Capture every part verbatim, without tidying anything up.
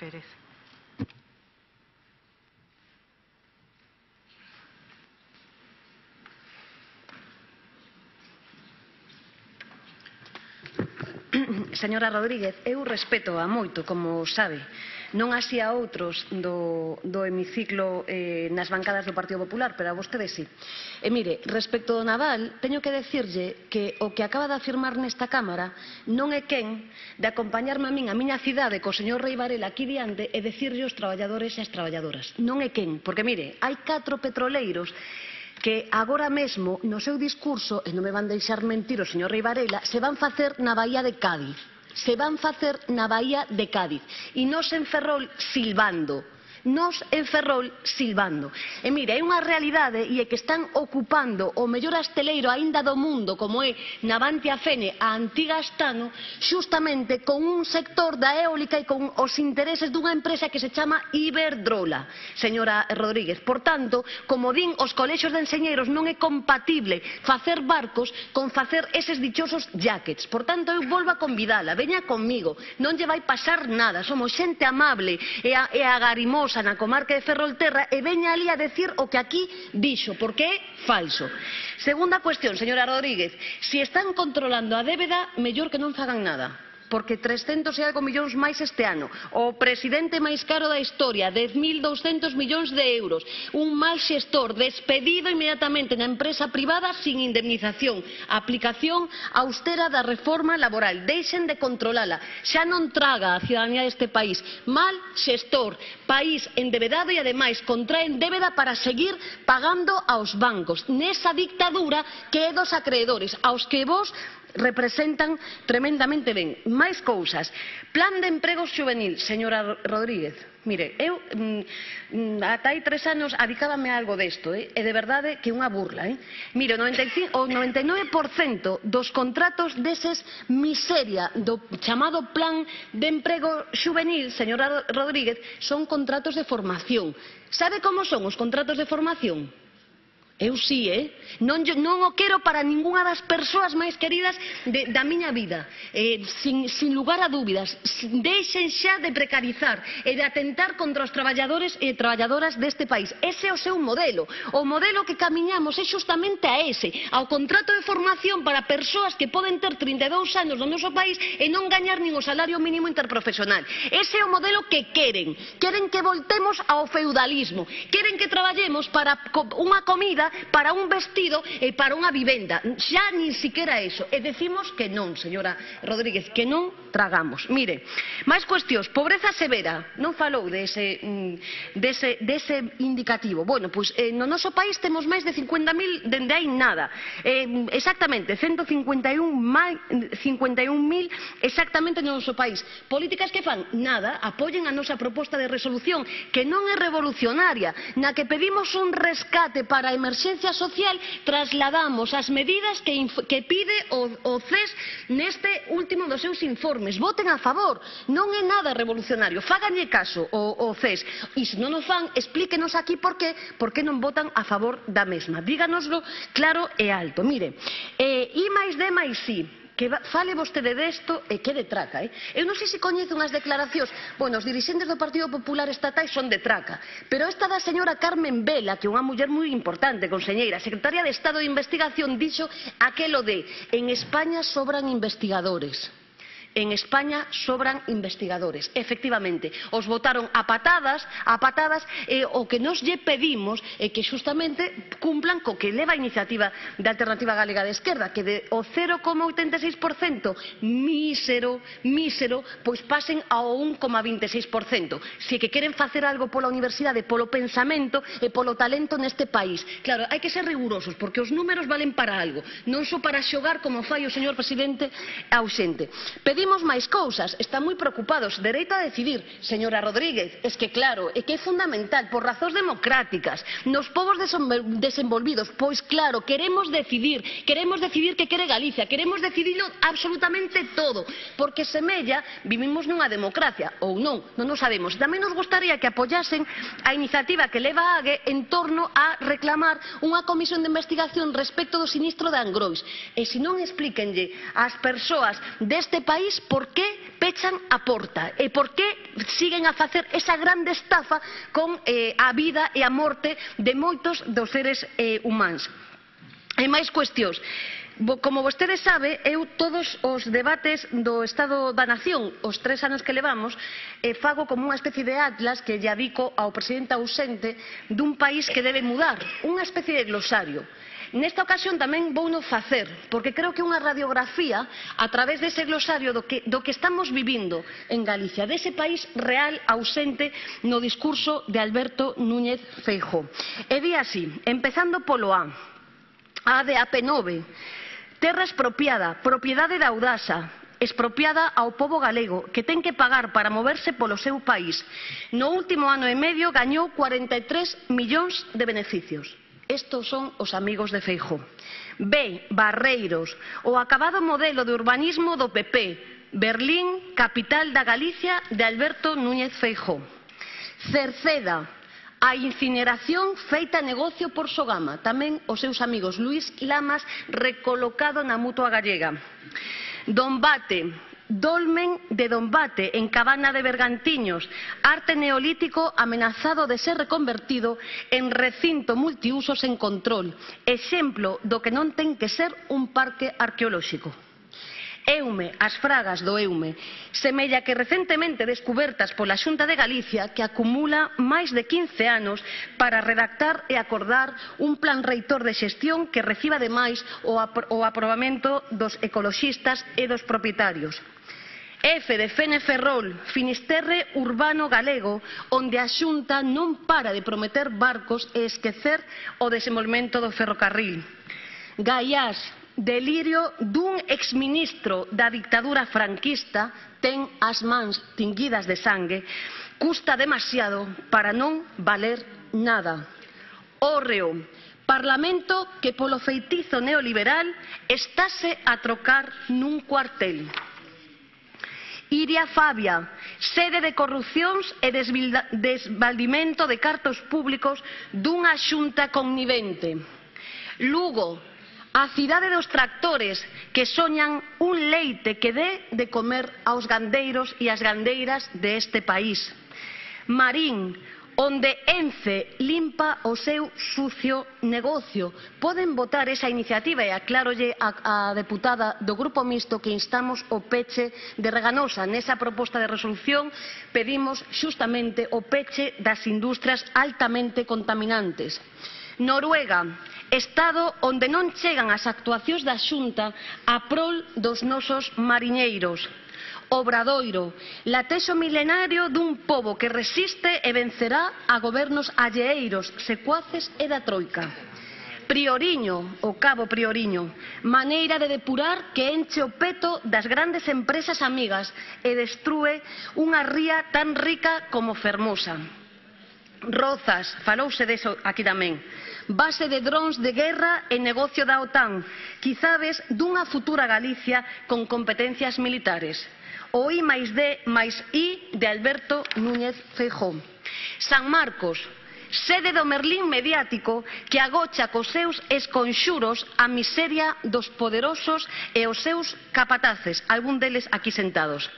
Pérez. Señora Rodríguez, eu respeto a moito, como sabe, non así a outros do, do hemiciclo eh, nas bancadas do Partido Popular, pero a vostede sí. E mire, respecto do naval, teño que decirlle que o que acaba de afirmar nesta Cámara non é quen de acompañarme a min a miña cidade co señor Rei Varela aquí diante e decirlle aos traballadores e as traballadoras. Non é quen, porque mire, hai catro petroleiros que agora mesmo no seu discurso, e non me van deixar mentir o señor Rei Varela, se van facer na Baía de Cádiz. Se van facer na Baía de Cádiz. E nos en Ferrol silbando. Nos en Ferrol silbando. E mire, é unha realidade e é que están ocupando o mellor asteleiro aínda do mundo, como é Navantia Fene, a antiga Astano, xustamente con un sector da eólica e con os intereses dunha empresa que se chama Iberdrola, señora Rodríguez. Por tanto, como din os colexios de enxeñeiros, non é compatible facer barcos con facer eses dichosos jackets. Por tanto, eu volvo a convidala, veña conmigo, non lle vai pasar nada, somos xente amable e, a, e agarimosa na comarca de Ferrolterra e veña ali a decir o que aquí dixo, porque é falso. Segunda cuestión, señora Rodríguez, se están controlando a débeda, mellor que non fagan nada, porque trescentos e algo millóns máis este ano, o presidente máis caro da historia, dez mil douscentos millóns de euros, un mal xestor despedido inmediatamente na empresa privada sin indemnización, aplicación austera da reforma laboral, deixen de controlala, xa non traga a ciudadanía deste país, mal xestor, país endebedado e ademais contraen débeda para seguir pagando aos bancos, nesa dictadura que é dos acreedores, aos que vos representan tremendamente ben. Máis cousas. Plan de emprego xuvenil, señora Rodríguez. Mire, eu mm, ata hai tres anos adicábame a algo desto, eh? E de verdade que é unha burla. Eh? Mire, o noventa e cinco, o noventa e nove por cento dos contratos deses miseria do chamado plan de emprego xuvenil, señora Rodríguez, son contratos de formación. Sabe como son os contratos de formación? Eu sí, eh? Non, non o quero para ningunha das persoas máis queridas de, da miña vida, eh, sin, sin lugar a dúbidas. Deixen xa de precarizar e de atentar contra os traballadores e traballadoras deste país. Ese é o seu modelo. O modelo que camiñamos é justamente a ese, ao contrato de formación para persoas que poden ter trinta e dous anos no noso país e non gañar nin o salario mínimo interprofesional. Ese é o modelo que queren. Queren que voltemos ao feudalismo. Queren que traballemos para unha comida, para un vestido e para unha vivenda. Xa nin siquiera eso. E decimos que non, señora Rodríguez, que non tragamos. Mire, máis cuestións. Pobreza severa. Non falou dese, dese, dese indicativo. Bueno, pois eh, no noso país temos máis de cincuenta mil dende hai nada. Eh, exactamente, ciento cincuenta e un mil exactamente no noso país. Políticas que fan? Nada. Apoyen a nosa proposta de resolución, que non é revolucionaria, na que pedimos un rescate para a emerxencia social, trasladamos as medidas que, que pide o, o C E S neste último dos seus informes. Voten a favor, non é nada revolucionario, fáganlle caso o, o C E S, e se non o fan, explíquenos aquí por qué, por qué non votan a favor da mesma. Díganoslo claro e alto. Mire, eh, I máis D máis I, que fale vostede desto e que de traca. Eh? Eu non sei se coñece unhas declaracións, bueno, os dirixentes do Partido Popular estatais son de traca, pero esta da señora Carmen Vela, que é unha muller moi importante, conselleira, secretaria de Estado de Investigación, dixo aquelo de en España sobran investigadores. En España sobran investigadores. Efectivamente, os votaron a patadas, a patadas, e o que nos lle pedimos é que justamente cumplan co que leva a iniciativa da Alternativa Galega de Esquerda, que de o cero coma oitenta e seis por cento mísero, mísero, pois pasen ao un coma vinte e seis por cento. Se que queren facer algo pola universidade, polo pensamento e polo talento neste país. Claro, hai que ser rigurosos, porque os números valen para algo, non só para xogar como fai o señor presidente ausente. Pedimos máis cousas, están moi preocupados. Dereito a decidir, señora Rodríguez, es que claro, é que é fundamental, por razóns democráticas, nos povos desenvolvidos, pois claro, queremos decidir, queremos decidir que quere Galicia, queremos decidirlo absolutamente todo, porque semella, vivimos nunha democracia, ou non, non o sabemos. Tamén nos gustaría que apoyasen a iniciativa que leva a AGE en torno a reclamar unha comisión de investigación respecto do sinistro de Angrois. E se non, explíquenlle ás persoas deste país país por que pechan a porta e por que siguen a facer esa grande estafa con eh, a vida e a morte de moitos dos seres eh, humanos. E máis cuestións. Como vostede sabe, eu todos os debates do Estado da Nación, os tres anos que levamos, eh, fago como unha especie de atlas que lle adico ao presidente ausente dun país que debe mudar, unha especie de glosario. Nesta ocasión tamén vouno facer, porque creo que unha radiografía a través dese glosario do que, do que estamos vivindo en Galicia, dese país real ausente no discurso de Alberto Núñez Feijóo. E di así, empezando polo A, A de A P nove, terra expropiada, propiedade da Audasa, expropiada ao pobo galego, que ten que pagar para moverse polo seu país. No último ano e medio gañou cuarenta e tres millóns de beneficios. Estos son os amigos de Feijóo. B, Barreiros, o acabado modelo de urbanismo do P P, Berlín, capital da Galicia de Alberto Núñez Feijóo. Cerceda, a incineración feita negocio por Sogama, tamén os seus amigos Luís Lamas recolocado na Mutua Gallega. Dombate, dolmen de Dombate en Cabana de Bergantiños, arte neolítico amenazado de ser reconvertido en recinto multiusos en control, exemplo do que non ten que ser un parque arqueolóxico. Eume, as fragas do Eume, semella que recentemente descubertas pola Xunta de Galicia, que acumula máis de quince anos para redactar e acordar un plan reitor de xestión que reciba ademais o, apro o aprobamento dos ecoloxistas e dos propietarios. F de Feneferrol, Finisterre urbano galego, onde a Xunta non para de prometer barcos e esquecer o desenvolvemento do ferrocarril. Gaiás, delirio dun exministro da dictadura franquista, ten as mans tinguidas de sangue, custa demasiado para non valer nada. Hórreo, Parlamento que polo feitizo neoliberal estáse a trocar nun cuartel. Iria Fabia, sede de corrupcións e desvaldimento de cartos públicos dunha xunta connivente. Lugo, a cidade dos tractores que soñan un leite que dé de comer aos gandeiros e ás gandeiras deste país. Marín, onde Ence limpa o seu sucio negocio. Poden votar esa iniciativa e aclárolle a, a deputada do Grupo Mixto que instamos o peche de Reganosa. Nesa proposta de resolución pedimos xustamente o peche das industrias altamente contaminantes. Noruega, Estado onde non chegan as actuacións da Xunta a prol dos nosos mariñeiros. Obradoiro, latexo milenario dun pobo que resiste e vencerá a gobernos alleiros, secuaces e da Troika. Prioriño, o Cabo Prioriño, maneira de depurar que enche o peto das grandes empresas amigas e destrúe unha ría tan rica como fermosa. Rozas, falouse deso aquí tamén. Base de drons de guerra e negocio da OTAN, quizades dunha futura Galicia con competencias militares. O I máis D máis I de Alberto Núñez Feijóo. San Marcos, sede do Merlín mediático que agocha cos seus esconxuros a miseria dos poderosos e os seus capataces, algún deles aquí sentados.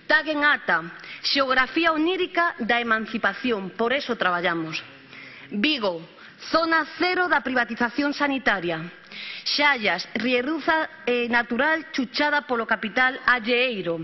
Taguen ata, xeografía onírica da emancipación, por eso traballamos. Vigo, zona cero da privatización sanitaria. Xallas, rierruza eh, natural chuchada polo capital alleeiro.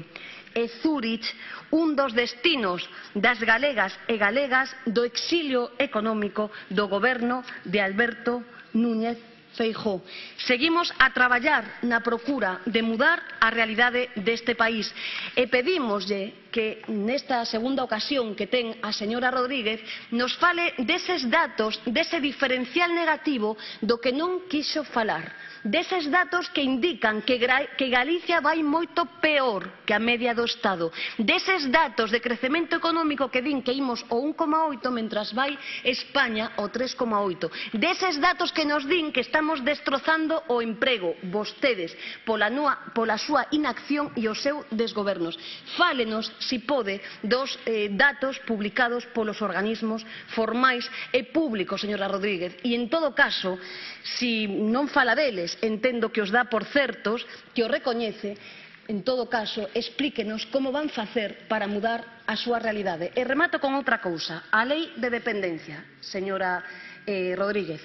E Zúrich, un dos destinos das galegas e galegas do exilio económico do goberno de Alberto Núñez Feijóo. Seguimos a traballar na procura de mudar a realidade deste país e pedímoslle que nesta segunda ocasión que ten a señora Rodríguez nos fale deses datos, dese diferencial negativo do que non quixo falar, deses datos que indican que, que Galicia vai moito peor que a media do Estado, deses datos de crecemento económico que din que imos o un coma oito mentras vai España o tres coma oito, deses datos que nos din que estamos destrozando o emprego, vostedes, pola, nua, pola súa inacción e o seu desgobernos. Fálenos, si pode, dos eh, datos publicados polos organismos formais e públicos, señora Rodríguez, e en todo caso, si non fala deles, entendo que os dá por certos, que o recoñece, en todo caso, explíquenos como van facer para mudar a súa realidade. E remato con outra cousa, a lei de dependencia, señora eh, Rodríguez.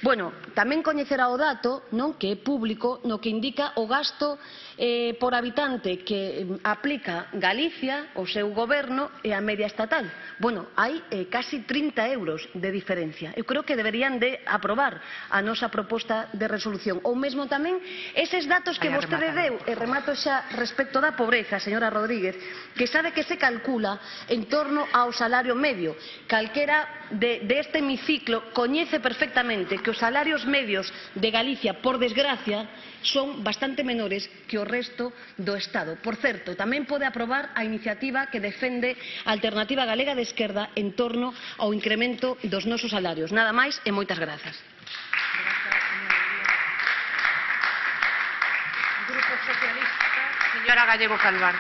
Bueno, tamén coñecerá o dato, non, que é público, no que indica o gasto eh, por habitante que eh, aplica Galicia, o seu goberno, e a media estatal. Bueno, hai eh, casi trinta euros de diferencia. Eu creo que deberían de aprobar a nosa proposta de resolución. Ou mesmo tamén eses datos que vostede deu, e remato xa respecto da pobreza, señora Rodríguez, que sabe que se calcula en torno ao salario medio. Calquera de, de este hemiciclo coñece perfectamente que os salarios medios de Galicia, por desgracia, son bastante menores que o resto do Estado. Por certo, tamén pode aprobar a iniciativa que defende a Alternativa Galega de Esquerda en torno ao incremento dos nosos salarios. Nada máis e moitas grazas. Grupo Socialista, señora Gallego Calvar.